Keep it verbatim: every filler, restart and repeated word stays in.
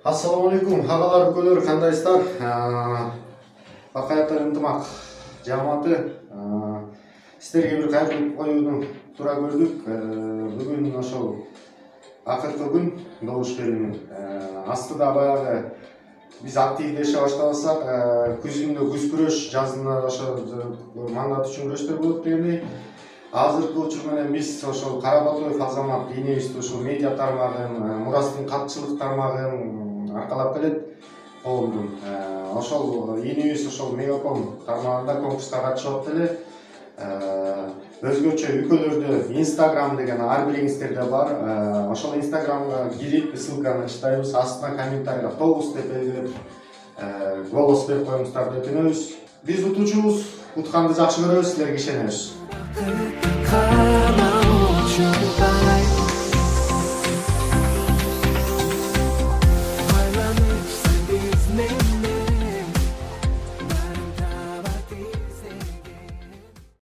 Assalamu alaikum, hagalar өлкөлөр кандайсыздар? Бакаятар ынтымак жамааты сиздерге бир кайрылып коюуну туура көрдүк. Бүгүн ошол акыркы күн добуш берүүнүн астыда баягы биз активдеше баштабасак, күзүндө күз күрөш, жазында ошо мандат үчүн күрөштөр болот дегендей. Азыркы учур менен биз ошол Карабатоев Азамат энебизди ушул медиа тармагын, Мурастын катчылык тармагын аркалап келет коомдун. Ошол энебиз ошол Мегаком тармагында конкурска катышып эле. Өзгөчө өлкөлөрдө Instagram деген ар бириңиздерде бар. Ошол Instagramга кирип, ссылканы читайбыз, астына комментарийга тогуз деп белгилеп, голос берип коюңуздар деп өтүнөбүз. Биз утуучубуз, утканды жакшы көрөбүз, силерге ишенебиз.